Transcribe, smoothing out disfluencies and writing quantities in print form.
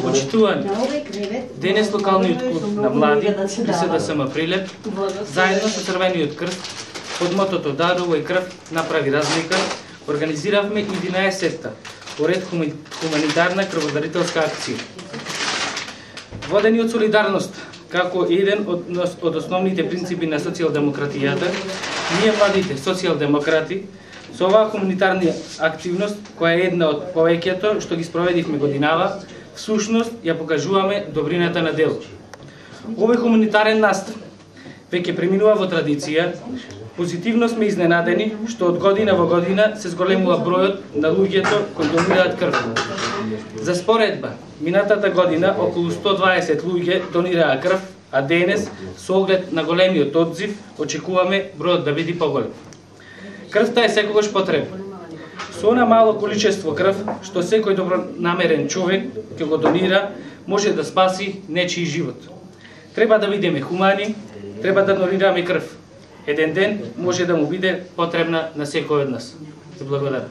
Почитувани. Денес локалниот клуб на млади при СДСМ Прилеп, заедно со Црвениот крст, под мотото Дарувај крв направи разлика, организиравме 11-та поред хуманитарна крводарителска акција. Водени од солидарност, како еден од основните принципи на социјалдемократијата, ние младите социјалдемократи со оваа хуманитарна активност, која е една од повеќето што ги спроведивме годинава, всушност ја покажуваме добрината на дело. Овој хуманитарен настан веќе преминува во традиција. Позитивно сме изненадени што од година во година се зголемува бројот на луѓето кои донираат крв. За споредба, минатата година околу 120 луѓе донираа крв, а денес, со оглед на големиот одзив, очекуваме бројот да биде поголем. Крвта е секогаш потребна. Со она мало количество крв, што секој добронамерен човек ќе го донира, може да спаси нечiji живот. Треба да бидеме хумани, треба да донираме крв. Еден ден може да му биде потребна на секој од нас. Се благодарам.